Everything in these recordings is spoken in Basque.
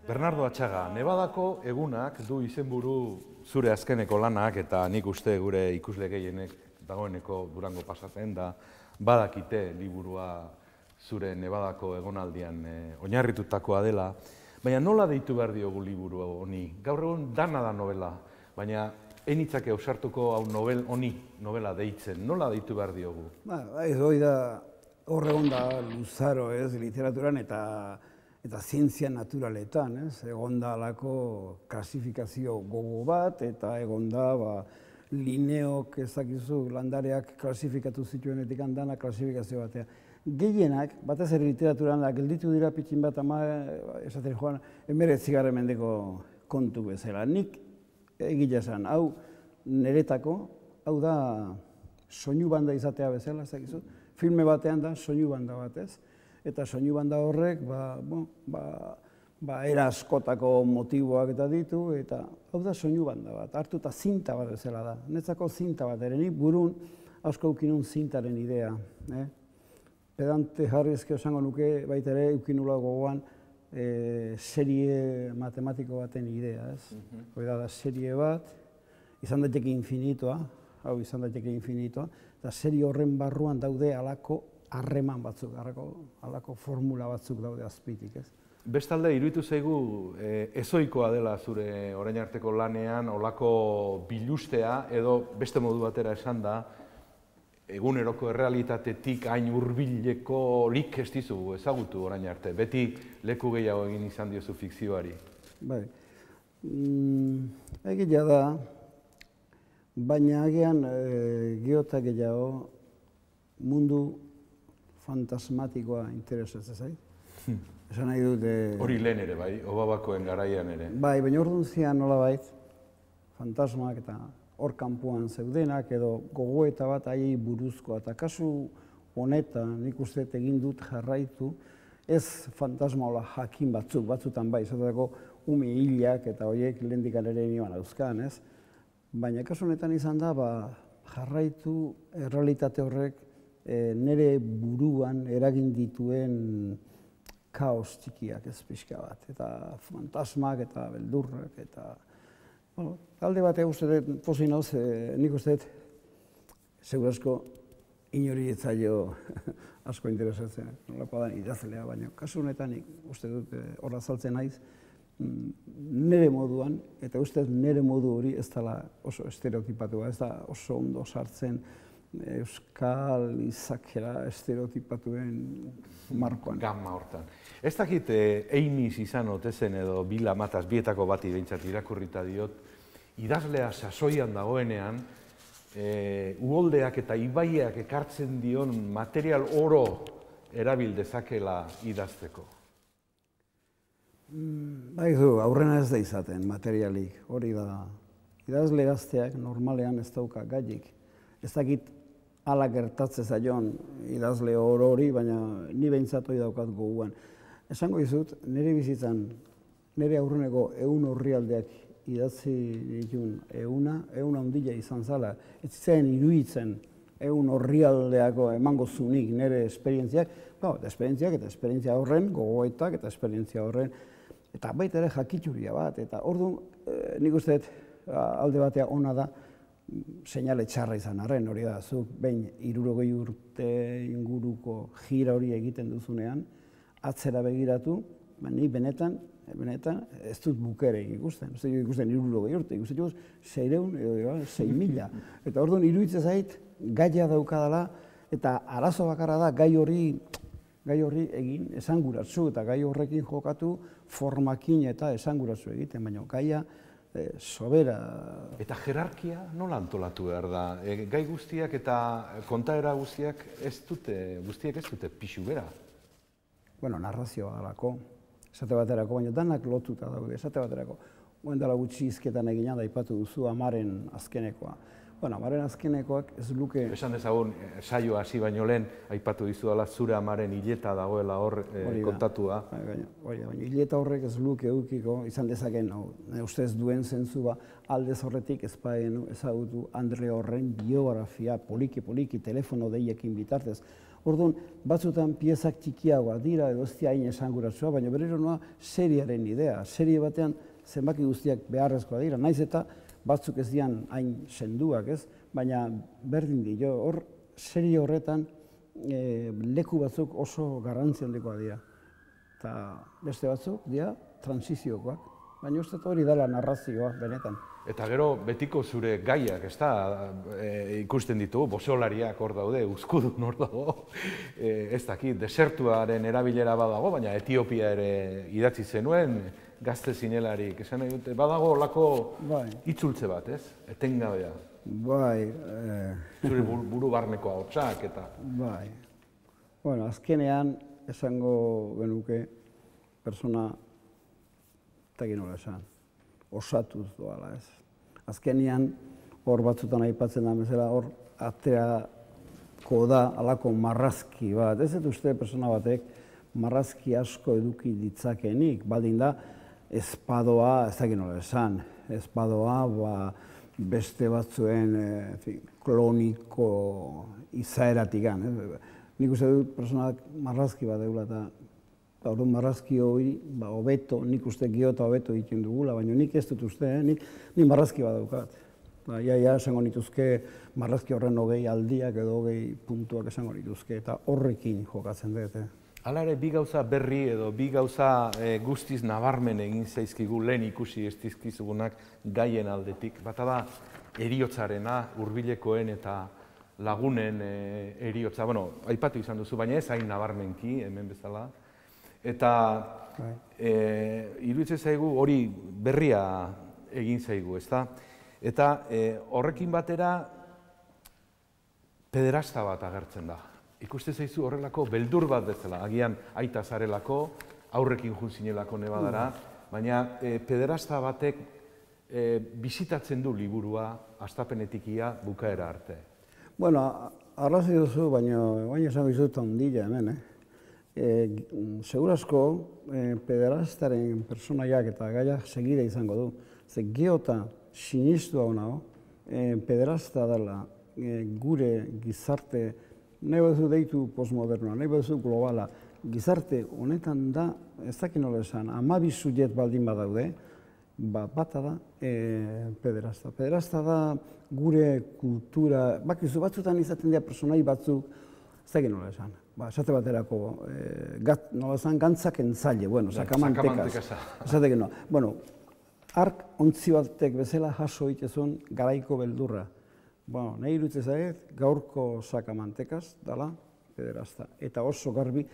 Bernardo Atxaga, Nevadako egunak du izenburu zure azkeneko lanak eta nik uste gure ikusle gehienek dagoeneko Durango pasatzen da badakite liburua zure Nevadako egonaldian oinarritutakoa dela, baina nola deitu behar diogu liburu honi? Gaur egun dana da novela, baina enitzake ausartuko hau novela deitzen, nola deitu behar diogu? Hoi da, hor egon da luzaro literaturan eta zientzia naturaletan, egon da alako klasifikazio gogo bat, eta egon da lineok ezakizu landareak klasifikatu zituenetik handana klasifikazio batean. Gehienak, batez ere literaturan da, gelditu dira pitxin bat esaten joan, 19. mendeko kontu bezala. Nik egila esan, hau niretako, hau da soinu banda izatea bezala, ezakizu, filme batean da soinu banda batez. Eta soinu banda horrek, era askotako motiboak eta ditu, eta hau da soinu banda bat, hartu eta zinta bat bezala da. Netzako zinta bat ere, nik burun asko eukinun zintaren idea. Pedante jarrizke osango nuke, baita ere eukinula gogoan serie matematiko baten idea. Hoi da serie bat, izan daiteke infinitoa, hau izan daiteke infinitoa, eta serie horren barruan daude alako harreman batzuk, halako formula batzuk daude azpitik, ez? Bestalde, iruditu zaigu ezoikoa dela zure orain arteko lanean, olako bilustea, edo beste modu batera esan da, eguneroko errealitatetik hain hurbilekorik ez dizugu ezagutu orain arte. Beti leku gehiago egin izan diozu fikzioari. Bai, egia da, baina agian geota gehiago mundu fantasmatikoa interesatzen zait. Esan nahi dut... Hori lehen ere, bai? Obabakoen garaian ere. Bai, baina orduan zian nolabait, fantasmak eta hor kanpoan zeudenak edo gogoeta bat haiei buruzkoa. Eta kasu honetan, nik uste egin dut jarraitu, ez fantasma hola jakin batzutan bai, izateko ume hilak eta horiek lehendikan ere nioan dauzkan, ez? Baina kasu honetan izan da, jarraitu errealitate horrek nire buruan eragin dituen kaos txikiak ez pixka bat, eta fantasmak eta beldurrak, eta... Talde bat uste dut, pozin hoz, nik uste dut, segurazko inori etzaio asko interesatzen, nolakoa da idazlea, baina kasu honetan nik uste dut horra azaltzen naiz, nire moduan, eta uste dut nire modu hori ez dela oso estereotipatua, ez da oso ondo sartzen euskal izakera estereotipatuen markoan. Gamma hortan. Ez dakit einiz izan otezen edo Bila Mataz bietako bati behintzat irakurrita diot, idazlea sasoian dagoenean, uholdeak eta ibaiak ekartzen dion material oro erabil dezakela idazteko. Baizu, aurrena ez da izaten materialik, hori da. Idazle gazteak normalean ez dauka gaiik. Ez dakit ala gertatzen zaion idazle hori, baina ni behintzat hori daukat goguan. Esango dizut, nire bizitzan, nire aurreneko 100 orrialdeak idatzi ditun ehuna handila izan zala. Ez zen iruditzen 100 orrialdeako emango zunik nire esperientziak, eta esperientzia horren, gogoetak eta esperientzia horren, eta baita ere jakitxuria bat, eta orduan nik uste alde batea ona da, seinale txarra izan arren, hori da, zuk behin 60 urte inguruko gira hori egiten duzunean, atzera begiratu, ni benetan ez dut bukereik ikusten. Ez dut ikusten 60 urte, ikusten dut 600 edo 6.000. Eta orduan iruditzen zait, gaia daukadala, eta arazo bakarra da gai hori egin esanguratsu, eta gai horrekin jokatu formakin eta esanguratsu egiten, baina gaia sobera. Eta jerarkia nola antolatu behar da? Gai guztiak eta kontaera guztiak ez dute pixu bera? Bueno, narrazioa dalako, esate baterako, baina danak lotuta daude, esate baterako. Goen dela gutxi hizketan eginan da ipatu duzu Amaren azkenekoa. Bueno, Amaren azkenekoak ez luke... Esan dezagun, saioa hasi baino lehen, aipatu dizudala zure Amaren hileta dagoela hor kontatua. Baina hileta horrek ez luke eukiko, izan dezaken, ustez duen zentzu aldez horretik ezpaen ezagutu Andre horren biografia poliki telefono deiekin bitartez. Orduan, batzutan piezak txikiagoa dira, edo ez hain esanguratsua, baina berriro noa seriaren idea. Serie batean zenbaki guztiak beharrezkoa dira, naiz eta batzuk ez dian hain senduak, ez? Baina berdin dio, hor serie horretan leku batzuk oso garrantzi handikoa dira. Eta beste batzuk dira transiziokoak, baina uste hori dela narrazioa benetan. Eta gero betiko zure gaiak, ez da, ikusten ditugu, boxeolariak hor daude, uzkudun hor dago, ez dakit, desertuaren erabilera badago, baina Etiopia ere idatzi zenuen, gazte zinelarik, esan nahi dute, badago olako itzultze bat, ez? Etengabea. Bai. Zure buru barneko ahotsak eta... Bai. Bueno, azkenean esango genuke persona, eta nola esan, osatuz doala, ez. Azkenean, hor batzutan aipatzen da bezala, hor aterako da alako marrazki bat. Ez dut uste persona batek marrazki asko eduki ditzakenik, baldin da, espadoa, ez dakit nola esan, espadoa beste batzuen kloniko izaeratik gan. Nik uste dut personak marrazki bat deula eta orduan marrazki hori, hobeto, nik uste geota hobeto egiten dugula, baina nik ez dut uste, nik marrazki bat daukat. Ja, esango nituzke marrazki horren 20 aldiak edo 20 puntuak esango nituzke, eta horrekin jokatzen dut. Hala ere, bi gauza berri edo bi gauza guztiz nabarmen egin zaizkigu lehen ikusi ez dizkizugunak gaien aldetik. Bata da, heriotzarena, hurbilekoen eta lagunen heriotza. Bueno, aipatu izan duzu, baina ez hain nabarmenki, hemen bezala. Eta iruditzen zaigu hori berria egin zaigu, ezta? Eta horrekin batera pederasta bat agertzen da. Ikuste zaizu horrelako beldur bat bezala, agian aita zarelako, aurrekin jun zinelako Nebadara, baina pederasta batek bisitatzen du liburua, hastapenetik ia bukaera arte. Bueno, arrazoi duzu, baina esan bizut ondila hemen, Segurazko pederastaren personaiak eta gaiak segida izango du. Ze geota sinistu hau nago, pederasta dela gure gizarte, nahi baduzu deitu postmodernoa, nahi baduzu globala, gizarte honetan da, ez dakit nola esan, 12 subjekt baldin badaude, bata da pederasta. Pederasta da gure kultura, bakizu batzutan izaten dira personai batzuk, ez dakit nola esan. Esate baterako, nola esan, gantzak entzaile, sakamantekaz. Esateke no. Bueno, ark ontzi batek bezala jaso itezun garaiko beldurra. Bueno, nahi iruditzen zait, gaurko sakamantekaz, dala, pederasta. Eta oso garbi,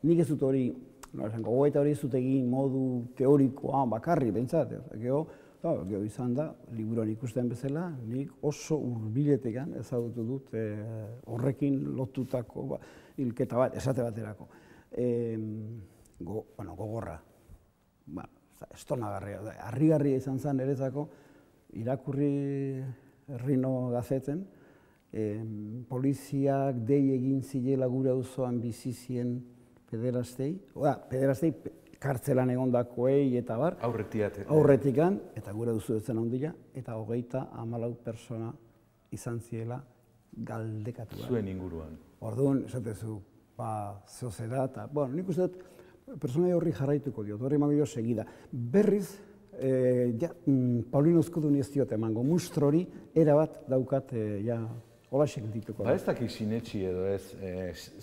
nik ez dut hori, gogoeta hori ez dut egin modu teorikoa bakarri, bentsat. Gero izan da, liburuan ikusten bezala, nik oso hurbiletekan ezagutu dut horrekin lotutako hilketa bat, esate baterako. Gogorra, estonagarria, harrigarria izan zen eretzako, irakurri Herrino gazeten, poliziak dei egin zilela gure auzoan bizi zien pederastei, kartzelan egondakoei eta bar. Aurretikan, eta gure duzu etzen ondila, eta 34 persona izan ziela galdekatu. Zuen inguruan. Orduan, esatezu, zehozera, eta, nik uste dut, personai horri jarraituko diot, horri emango dio segida. Berriz, Paulino Uzkudun ez diot emango, mustro hori erabat daukat, holaxek dituko. Ez dakik sinetxi edo ez,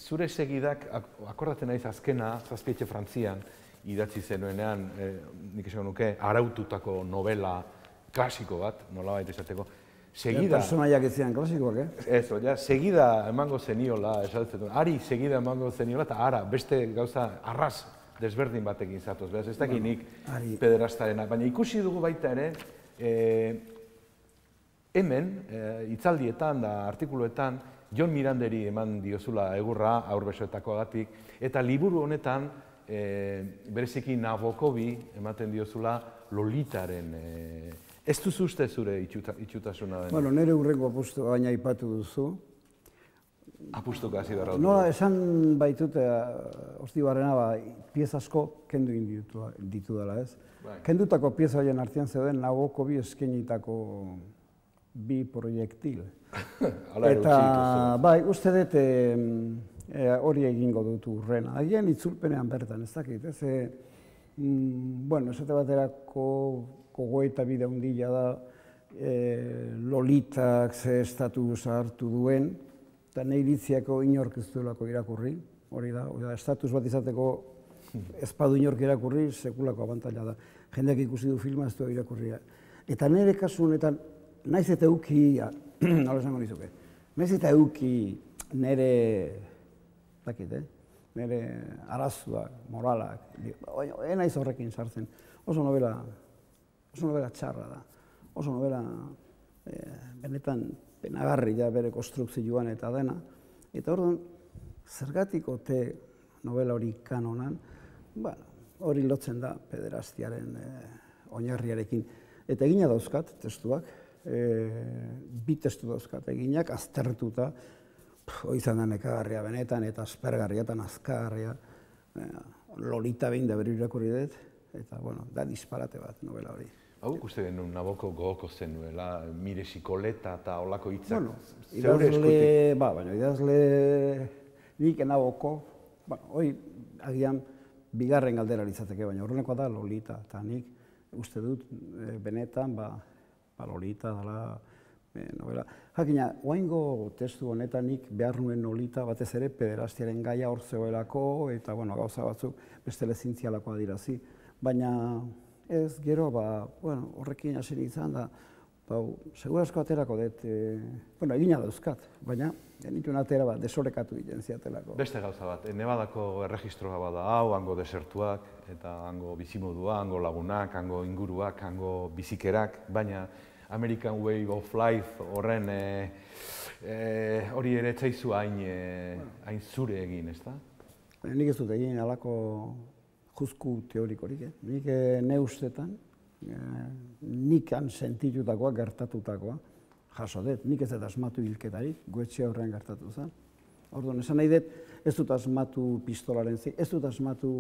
zure segidak, akordaten naiz azkena, Zazpietxe Frantzian, idatzi zenuenean, nik esan nuke, araututako novela klasiko bat, nolabait esateko. Personaiak ez zian klasikoak, Ez, segida emango zeniola, esatzen duen, ari segida emango zeniola, eta ara, beste gauza arras desberdin batekin zatoz, behaz, ez dakit nik pederastarena. Baina ikusi dugu baita ere, hemen, hitzaldietan da artikuluetan, Jon Miranderi eman diozula egurra aurbesoetakoagatik, eta liburu honetan, bereziki Nabokovi ematen diozula Lolitaren. Ez duzu uste zure itxutasuna den? Bueno, nire hurrengo apustu baina aipatu duzu. Apustuka hasi da rautu. Nola, esan baitute, Ostibarrena, pieza asko kendu ditu dela, ez? Kendutako pieza horien artean zeuden Nabokovi eskenitako bi proiektil. Eta, uste dut, hori egingo dut urrena. Agian itzulpenean bertan, ez dakit, ez? Bueno, esate baterako gogoeta bide handia da Lolitak ze estatus hartu duen, eta nahi iritziako inork ez duelako irakurri, hori da, estatus bat izateko ez badu inork irakurri, sekulako abantaila da. Jendeak ikusi du filma ez du irakurria. Eta nire kasu honetan, naiz eta euki, nola esango nizuke, naiz eta euki nire, dakit, nire arazoak, moralak, naiz horrekin sartzen. Oso novela txarra da. Oso novela benetan penagarria bere konstrukzioan eta dena. Eta orduan, zergatik ote novela hori kanonan, hori lotzen da pederastiaren oinarriarekin. Eta egina dauzkat testuak, bi testu dauzkat eginak, aztertuta, izan da nekagarria benetan, eta aspergarria eta nazkagarria. Lolita behin da berri irakurri dut, eta da disparate bat novela hori. Hau ikuste genuen Naboko gogoko zenuela, Mire Xikoleta eta olako hitzak. Baina idazle nik Naboko, hori agian bigarren galdera litzateke, baina horrenekoa da Lolita, eta nik uste dut benetan Lolita dela novela. Jakina, oaingo testu honetan nik behar nuen Lolita batez ere pederastiaren gaia hor zegoelako, eta gauza batzuk bestele zintzialako adirazi, baina ez, gero, horrekin hasi izan da, segurazko aterako dut, egina dauzkat, baina nituen atera bat desorekatu egiten ziatelako. Beste gauza bat, Nevadako erregistroa bada hau, hango desertuak, eta hango bizimodua, hango lagunak, hango inguruak, hango bizikerak, baina American Way of Life horren hori ere etzaizu hain zure egin, ez da? Nik ez dut egin halako juzku teorikorik, nik ne ustetan, nik han sentitutakoa, gertatutakoa, jaso dut, nik ez dut asmatu hilketarik, goetxe horrean gertatu zen. Orduan, esan nahi dut, ez dut asmatu pistolaren zi, ez dut asmatu...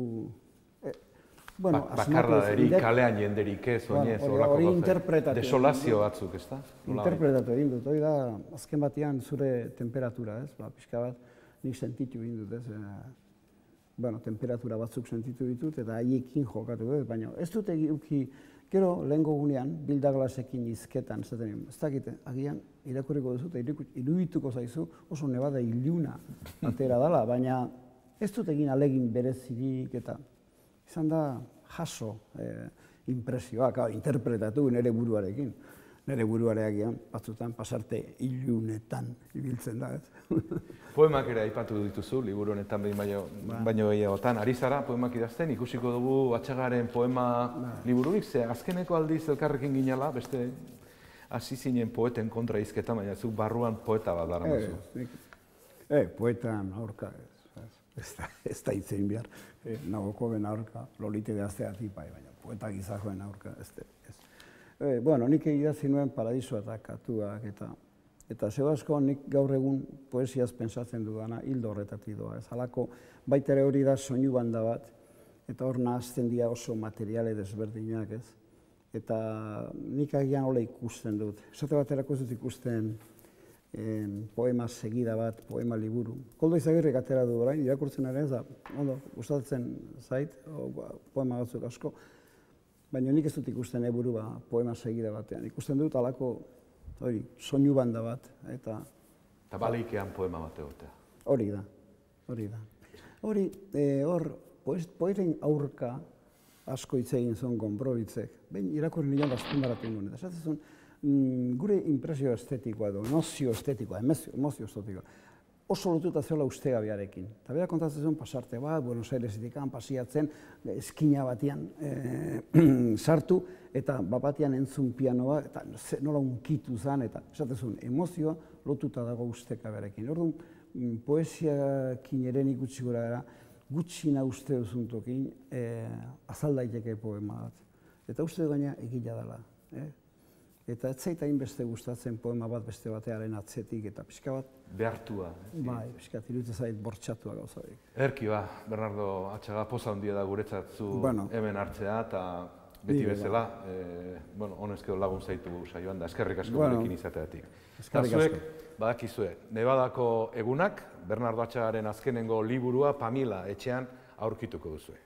Bakarraderi, kalean jenderik ez, oinez, horrako gauza, desolazio batzuk, ez da? Interpretatu egin dut, hori da, azken batean zure temperatura, ez, pixka bat, nik sentitu egin dut, ez, temperatura batzuk sentitu ditut eta haiekin jokatu dut, baina ez dut eduki, gero lehengo gunean, Bildaglasekin izketan, ez dakite, agian irakurriko duzu eta irudituko zaizu oso Nevada iluna atera dela, baina ez dut egin alegin berezirik eta izan da jaso impresioak, interpretatu nire buruarekin. Nire buruareagian, batzutan pasarte ilunetan ibiltzen da, ez? Poemak ere aipatu dituzu, liburu honetan behin baino gehiagotan. Ari zara, poemak idazten, ikusiko dugu Atxagaren poema libururik, ze azkeneko aldiz elkarrekin ginela, beste hasi zinen poeten kontra hizketan, baina zu barruan poeta bat dara mazu. Poetan aurka, ez da hitzein behar, Naboko ben aurka, Lolite gaztea tipai, baina poeta gizakoen aurka, ez. Nik idatzi nuen Paradisoa eta Katuak, eta zebazko nik gaur egun poesiaz pensatzen dudana hildo horretatik doa. Ez halako baita ere hori da soinu banda bat, eta hor nahazten dira oso materiale desberdinak, ez? Eta nik agian hola ikusten dut. Esate baterako ez dut ikusten poema segida bat, poema liburu. Koldo Izagirrek atera du orain, irakurtzen ere ez da, gustatzen zait, poema batzuk asko, baina nik ez dut ikusten eburu poema segida batean. Ikusten dut alako soinu banda bat, eta... Eta baleikean poema bat egotea. Hori da. Hor, poeten aurka asko hitz egin zuen Gonbrovitzek. Behin irakurri nion azpimarratu nuen. Eta esatzen gure impresio estetikoa edo, nozio estetikoa, emozio estetikoa, oso lotuta zeola ustegabearekin. Eta bera kontatzen zuen pasarte bat, Buenos Airesitik pasiatzen, eskina batian sartu, eta batian entzun pianoa, eta nola unkitu zen, eta esaten zuen, emozioa lotuta dago ustekabearekin. Orduan, poesiakin ere nik gutxi gora gara, gutxina uste duzuntokin azal daiteke poema bat. Eta uste gaina egila dela. Eta ez zaita hainbeste gustatzen poema bat beste batearen atzetik, eta pixka bat... Behartua. Bai, pixka bat iruditzen zait bortxatua gauzarik. Erki Bernardo Atxaga, poza handia da guretzat zu hemen hartzea, eta beti bezala, honezkero lagun zaitu saioan da, eskerrik asko gurekin izateatik. Eta zuek, badakizue, Nevadako egunak, Bernardo Atxagaren azkenengo liburua Pamila etxean aurkituko duzue.